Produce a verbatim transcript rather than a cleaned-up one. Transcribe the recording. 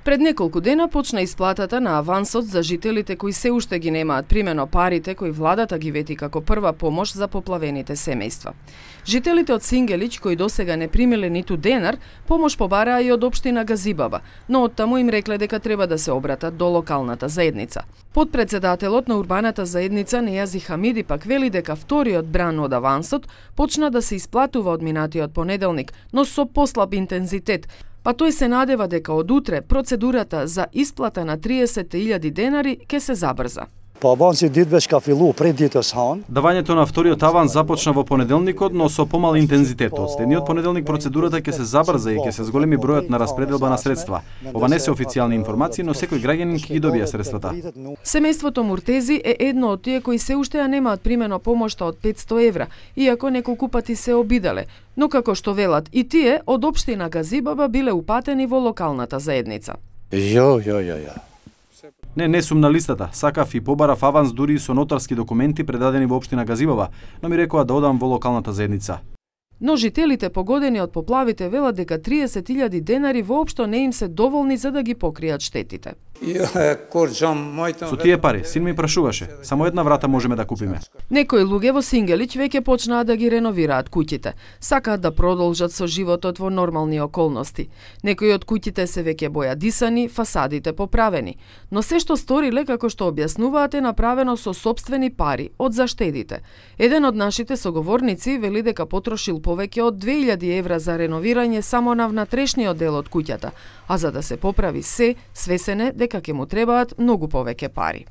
Пред неколку дена почна исплатата на авансот за жителите кои се уште ги немаат примено парите кои владата ги вети како прва помош за поплавените семејства. Жителите од Сингелич кои досега не примиле ниту денар, помош побараа и од општина Газибаба, но оттаму им рекле дека треба да се обратат до локалната заедница. Подпредседателот на урбаната заедница Нејази Хамиди пак вели дека вториот бран од авансот почна да се исплатува од минатиот понеделник, но со послаб интензитет, па тој се надева дека од утре процедурата за исплата на триесет илјади денари ќе се забрза. Давањето на вториот аванс започна во понеделникот, но со помал интензитет. Од следниот понеделник процедурата ќе се забрза и ќе се зголеми бројот на распределба на средства. Ова не се официјални информации, но секој граѓанин ќе ги добија средствата. Семејството Муртези е едно од тие кои се уште ја немаат примено помошта од петсто евра, иако неколку пати се обиделе. Но како што велат и тие, од општина Газибаба биле упатени во локалната заедница. Јо, јо, јо, јо. Не, не сум на листата. Сакав и побарав аванс дури и со нотарски документи предадени во општина Газибаба, но ми рекоа да одам во локалната заедница. Но жителите погодени од поплавите велат дека триесет илјади денари воопшто не им се доволни за да ги покријат штетите. Со тие пари, син ми прашуваше, само една врата можеме да купиме. Некои луѓе во Сингелич веќе почнаа да ги реновираат куќите. Сакаат да продолжат со животот во нормални околности. Некои од куќите се веќе бојадисани, фасадите поправени. Но се што сториле, како што објаснуваат, е направено со сопствени пари од заштедите. Еден од нашите соговорници вели дека потрошил повеќе од две илјади евра за реновирање само на внатрешниот дел од куќата, а за да се поправи се, свесен е дека ќе му требаат многу повеќе пари.